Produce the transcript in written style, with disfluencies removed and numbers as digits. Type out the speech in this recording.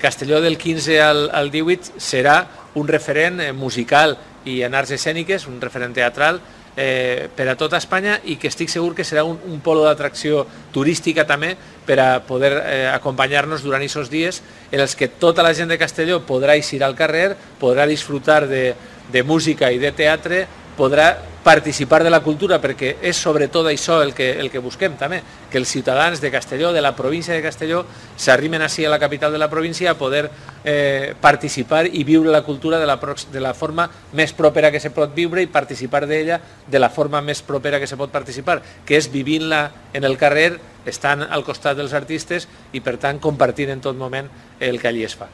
Castelló del 15 al 18 serà un referent musical i en arts escèniques, un referent teatral per a tota Espanya i que estic segur que serà un polo d'atracció turística també per a poder acompanyar-nos durant aquests dies en els que tota la gent de Castelló podrà eixir al carrer, podrà disfrutar de música i de teatre, podrà participar de la cultura, perquè és sobretot això el que busquem també, que els ciutadans de Castelló, de la província de Castelló, s'arrimen ací a la capital de la província a poder participar i viure la cultura de la forma més propera que se pot viure i participar d'ella de la forma més propera que se pot participar, que és vivint-la en el carrer, estant al costat dels artistes i per tant compartint en tot moment el que allí es fa.